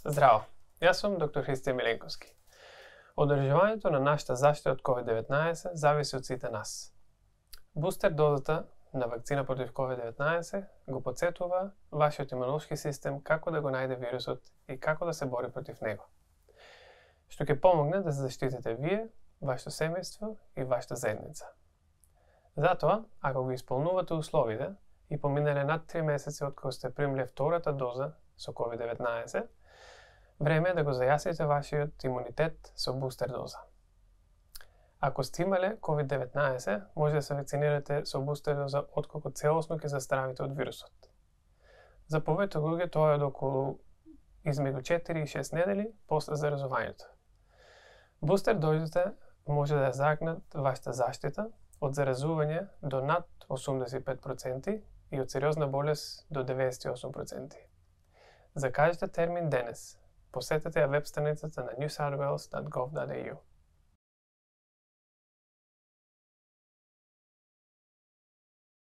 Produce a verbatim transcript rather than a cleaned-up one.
Здраво, јас сум доктор Христијан Миленковски. Одржувањето на нашата заштита од ковид деветнаесет зависи од сите нас. Бустер дозата на вакцина против ковид деветнаесет го потсетува вашиот имунолошки систем како да го најде вирусот и како да се бори против него, што ќе помогне да се заштитите вие, вашето семејство и вашата заедница. Затоа, ако го исполнувате условите и поминале над три месеци од кога сте примиле втората доза со ковид деветнаесет, време е да го зајасните вашиот имунитет со бустер доза. Ако сте имале ковид деветнаесет, може да се вакцинирате со бустер доза отколку целосно ќе застравите од вирусот. За повеќе луѓе тоа е околу измеѓу четири и шест недели после заразувањето. Бустер дозите може да ја загнат вашата заштита од заразување до над осумдесет и пет проценти и од сериозна болест до деветдесет и осум проценти. Закажете термин денес. Посетете ја веб страницата на new south wales dot gov dot a u.